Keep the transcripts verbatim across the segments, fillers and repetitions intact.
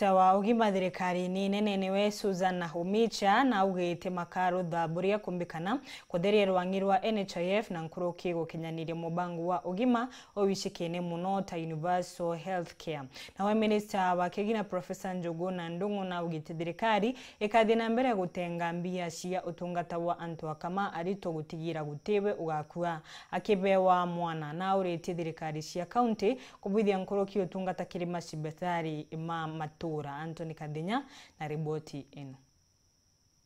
Minista wa ugima thirikarini nene niwe Susan Nakhumicha naugite makarutha buria kumbikana kutheria rwang'i rwa N H I F na nkuruki gukinyaniria mubango wa ugima uwicikene muno ta universal health care. Nawe minista wa kigina Professor Njuguna Ndung'u naugite thirikari ikathie na mbere gutenga mbia cia utungata wa antu akama aritu gutigira gutiwe ugakua akibewa mwana. Nauritie thirikari cia kaunti kubwithia nkuruki utungata kiri macibitari ma matura. Anthony Kathinya na riboti ino.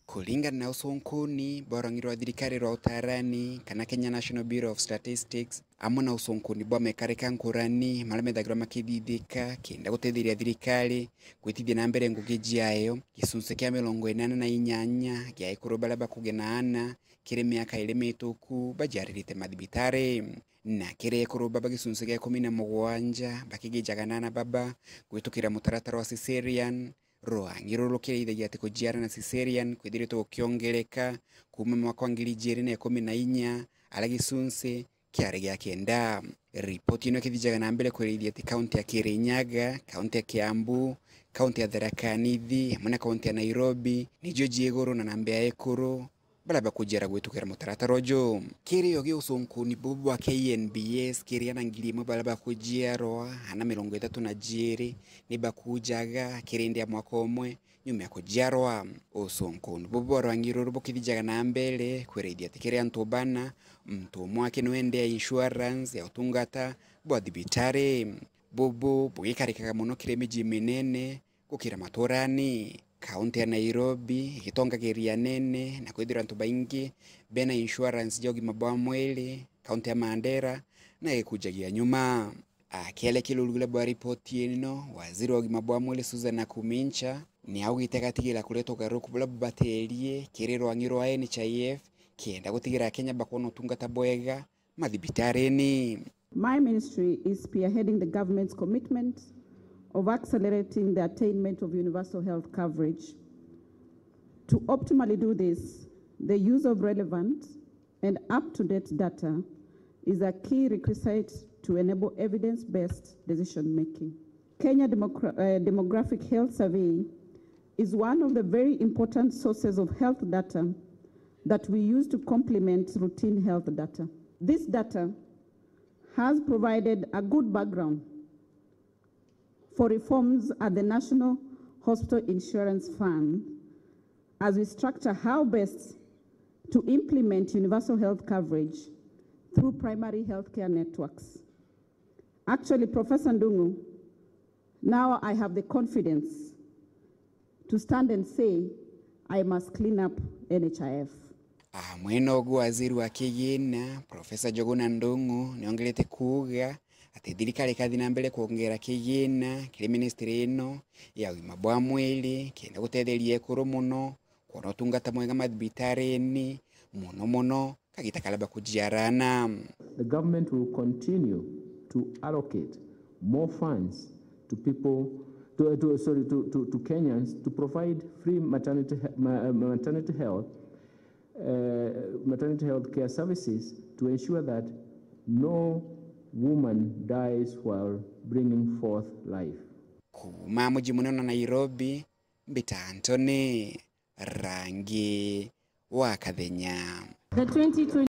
Kuringana na usunkuni bwa rwang'i rwa thirikari rwa utarani kana Kenya National Bureau of Statistics, amwe na usunkuni bwa mekarika nkurani maria methagirwa makithithika kenda gutetheria thirikari gwitithia na mbere ngugi jiayo, gicunci kia mirongo inana na inyanya gia ekuru baria bakugia na ana kiri miaka iri mituku bajiaririte mathibitari. Na kiri ekuru baba gicunci gia ikumi na mugwanja bakigijaga na ana baba gwitukira mutaratara wa caesarean, rwang'i ruru rukirithagia ati kujiara na caesarean kwithiritwe gukiongereka kuuma mwaka wa ngiri ijiri na ikumi na inya, aria gicunci kiari gia kenda. Ripoti ino ikithijaga na mbere kwerithia ati kaunti ya Kirinyaga, kaunti ya Kiambu, kaunti ya Tharaka Nithi, amwe na kaunti ya Nairobi nijo ji iguru na namba ya ekuru baria bakujiara gwitukira mutaratara uju. Kiri o gi usunkuni bubu bwa K N B S, kiri ana ngiri imwe baria bakujiarwa, ana mirongo ithatu na jiiri ni bakujaga kiri ndi ya mwaka umwe nyuma ya kujiarwa. Usunkuni bubu bwa rwang'i ruru bukithijaga na mbere kwerithia ati kiri antu bana, muntu umwe aki niwe ndi ya insurance ya utungata bwa thibitari. Bubu bugikarikaga muno kiri miji minene gukira maturani. Kaunti ya Nairobi igitongagiria anene na kwithirwa antu baingi bena insurance ja ugima bwa mwiri, kaunti ya Mandera na ikujagia nyuma. Akiaria kiri urugira bwa ripoti ino, waziri wa ugima bwa mwiri Susan Nakhumicha ni augite agatigira kureta ugaruruku buria bubaterie kiri rwang'i rwa N H I F kenda gutigira Akenya bakwona utungata bwega mathibitarini. My ministry is spearheading the government's commitment of accelerating the attainment of universal health coverage. To optimally do this, the use of relevant and up-to-date data is a key requisite to enable evidence-based decision-making. Kenya demogra-, uh, Demographic Health Survey is one of the very important sources of health data that we use to complement routine health data. This data has provided a good background for reforms at the National Hospital Insurance Fund as we structure how best to implement universal health coverage through primary healthcare networks. Actually, Professor Ndung'u, now I have the confidence to stand and say I must clean up N H I F. Amwe nogu waziri wa kigina, Professor Njuguna Ndung'u, niongerete kuuga ati thirikari ikathi na mbere kwongera kigina kiri ministry ino ya ugima bwa mwiri kenda gutetheria ekuru muno kwona utungata mwega mathibitarini, muno muno kagita karia bakujiara ana. The government will continue to allocate more funds to people, to, to, sorry, to, to, to Kenyans to provide free maternity, he-, ma-, maternity health, uh, maternity health care services to ensure that no woman dies while bringing forth life. Kuuma muji munene wa Nairobi, mbita Anthony Rangi wa Kathenya. The twenty twenty